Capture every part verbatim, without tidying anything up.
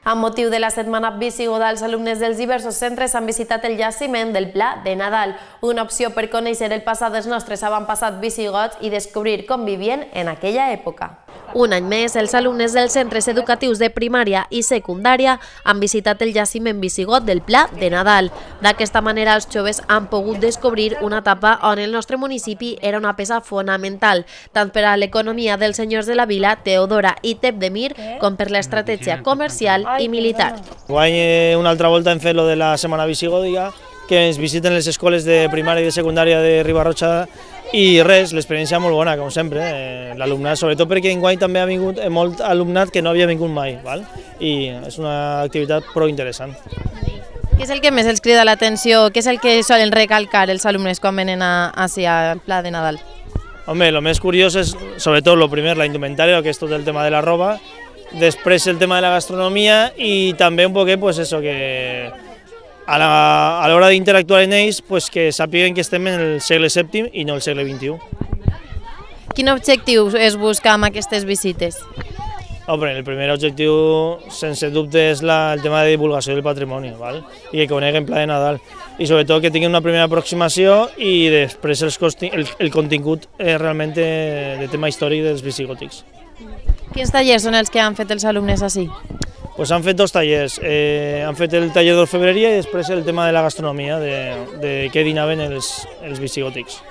Amb motiu de la setmana visigoda, els alumnes dels diversos centres han visitat el jaciment del Pla de Nadal, una opció per conèixer el passat dels nostres avantpassats visigots i descobrir com vivien en aquella època. Un any més, els alumnes dels centres educatius de primària i secundària han visitat el jaciment visigot del Pla de Nadal. D'aquesta manera, els joves han pogut descobrir una etapa on el nostre municipi era una peça fonamental, tant per a l'economia dels senyors de la vila, Teodora i Tepdemir, com per l'estratègia comercial i militar. Guany una altra volta hem fet lo de la setmana visigòdica, que ens visiten les escoles de primària i de secundària de Riba-roja i res, l'experiència molt bona, com sempre, eh, l'alumnat, sobretot perquè enguany també ha vingut molt alumnat que no havia vingut mai, val? I és una activitat prou interessant. Què és el que més els crida l'atenció? Què és el que solen recalcar els alumnes quan venen a, a, al Pla de Nadal? Home, el més curiós és, sobretot, el primer, la indumentària, que és tot el tema de la roba, després el tema de la gastronomia i també un poquet, pues eso, que a l'hora d'interactuar amb ells, pues que sàpiguen que estem en el segle sèptim i no el segle vint-i-u. Quin objectiu es busca amb aquestes visites? Home, el primer objectiu, sense dubte, és la, el tema de divulgació del patrimoni, val? I que coneguen Pla de Nadal. I sobretot que tinguin una primera aproximació i després els, el, el contingut eh, realment de, de tema històric dels visigòtics. Quins tallers són els que han fet els alumnes així? Pues han fet dos tallers, eh, han fet el taller d'orfebreria i després el tema de la gastronomia, de, de què dinaven els, els visigòtics.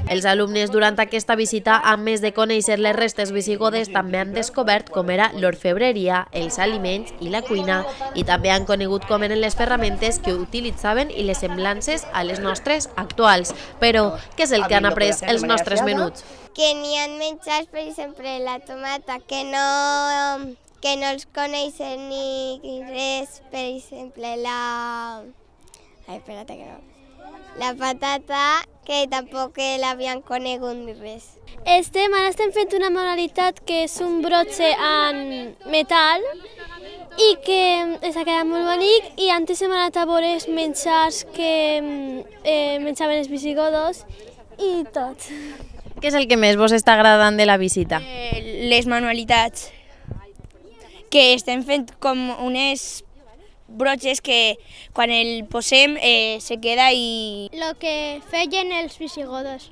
Els alumnes durant aquesta visita, a més de conèixer les restes visigodes, també han descobert com era l'orfebreria, els aliments i la cuina, i també han conegut com eren les ferramentes que utilitzaven i les semblances a les nostres actuals. Però què és el que han après els nostres menuts? Que n'hi ha menjars, per exemple, la tomata, que no... que no els coneixen ni res, per exemple, la... Ai, espera't que no. La patata, que tampoc l'havien conegut ni res. Estem, ara estem fent una manualitat que és un brotxe en metall i que s'ha quedat molt bonic i antes hem anat a veure els menjars que eh, menjaven els visigodos i tot. Què és el que més vos està agradant de la visita? Eh, les manualitats, que estem fent com unes brotxes que quan el posem eh, se queda i... Lo que feien els visigodos.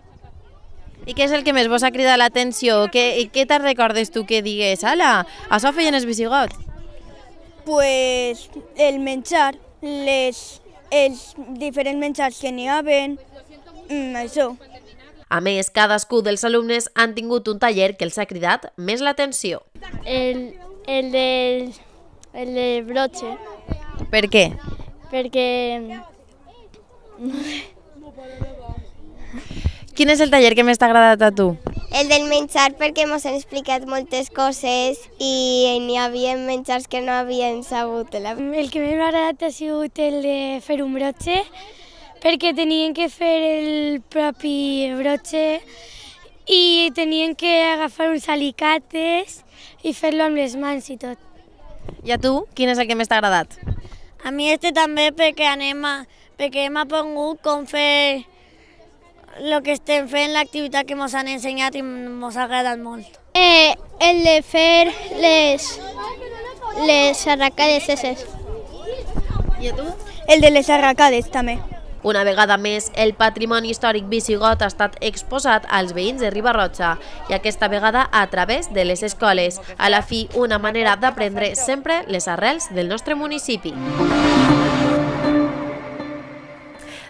I què és el que més vos ha cridat l'atenció? Què, què te'n recordes tu que digues, ala, això feien els visigots? Pues el menjar, les, els diferents menjars que n'hi havien, mm, això. A més, cadascú dels alumnes han tingut un taller que els ha cridat més l'atenció. El... El de, el de brotxe. Per què? Perquè... Quin és el taller que més t'ha agradat a tu? El del menjar, perquè ens han explicat moltes coses i n'hi havia menjars que no havien sabut. El que més m'ha agradat ha sigut el de fer un brotxe, perquè tenien que fer el propi brotxe i tenien que agafar uns alicates i fer-lo amb les mans i tot. I a tu, quin és el que més t'ha agradat? A mi este també perquè anem a, perquè hem aprengut com fer el que estem fent, l'activitat que ens han ensenyat i ens ha agradat molt. Eh, el de fer les, les arracades esses. I a tu? El de les arracades també. Una vegada més, el patrimoni històric visigot ha estat exposat als veïns de Riba-roja i aquesta vegada a través de les escoles. A la fi, una manera d'aprendre sempre les arrels del nostre municipi.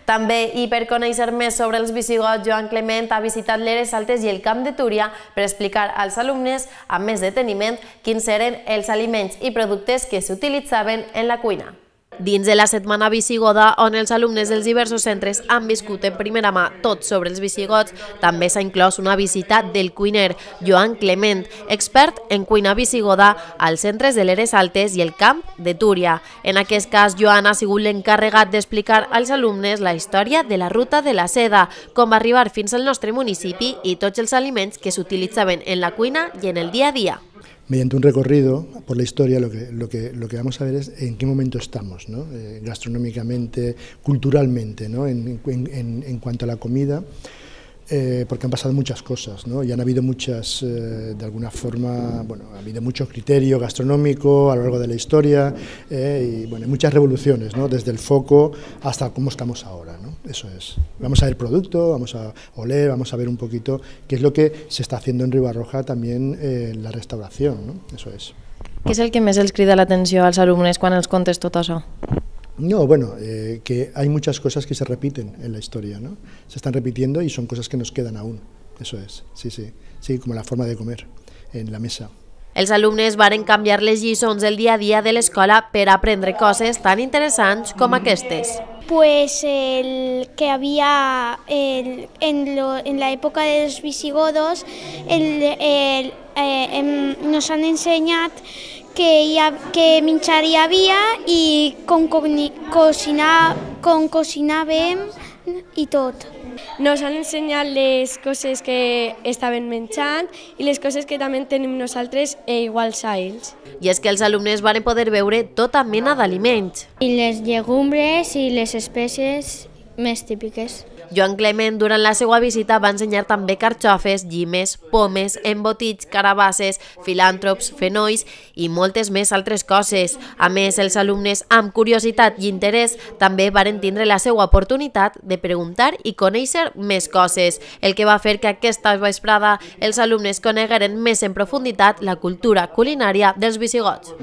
També, i per conèixer més sobre els visigots, Joan Clement ha visitat l'Eres Altes i el Camp de Túria per explicar als alumnes, amb més deteniment, quins eren els aliments i productes que s'utilitzaven en la cuina. Dins de la setmana visigoda, on els alumnes dels diversos centres han viscut en primera mà tot sobre els visigots, també s'ha inclòs una visita del cuiner Joan Clement, expert en cuina visigoda als centres de l'Eres Altes i el Camp de Túria. En aquest cas, Joan ha sigut l'encarregat d'explicar als alumnes la història de la ruta de la seda, com arribar fins al nostre municipi i tots els aliments que s'utilitzaven en la cuina i en el dia a dia. Mediante un recorrido por la historia lo que, lo que, lo que vamos a ver es en qué momento estamos, ¿no? eh, gastronómicamente, culturalmente, ¿no? en, en, en, en cuanto a la comida. eh, porque han pasado muchas cosas, ¿no? Y han habido muchas, eh, de alguna forma, bueno, ha habido mucho criterio gastronómico a lo largo de la historia, eh, y bueno, muchas revoluciones, ¿no? Desde el foco hasta cómo estamos ahora, ¿no? Eso es. Vamos a ver producto, vamos a oler, vamos a ver un poquito qué es lo que se está haciendo en Ribarroja también eh, en la restauración, ¿no? Eso es. Què és el que més els crida l'atenció als alumnes quan els contes tot això? No, bueno, eh, que hay muchas cosas que se repiten en la historia, ¿no? Se están repitiendo y son cosas que nos quedan aún, eso es, sí, sí, sí, como la forma de comer en la mesa. Els alumnes varen canviar les lliçons del dia a dia de l'escola per aprendre coses tan interessants com aquestes. Pues el que había el, en, lo, en la época de los visigodos el, el, eh, nos han enseñat que, hi ha, que menjar hi havia i com, cocinar, com cocinàvem i tot. Nos han ensenyat les coses que estaven menjant i les coses que també tenim nosaltres e iguals a ells. I és que els alumnes van poder veure tota mena d'aliments. I les llegumbres i les espècies més típiques. Joan Clement, durant la seva visita, va ensenyar també carxofes, llimes, pomes, embotits, carabasses, filàntrops, fenolls i moltes més altres coses. A més, els alumnes, amb curiositat i interès, també varen tindre la seva oportunitat de preguntar i conèixer més coses, el que va fer que aquesta vesprada els alumnes conegueren més en profunditat la cultura culinària dels visigots.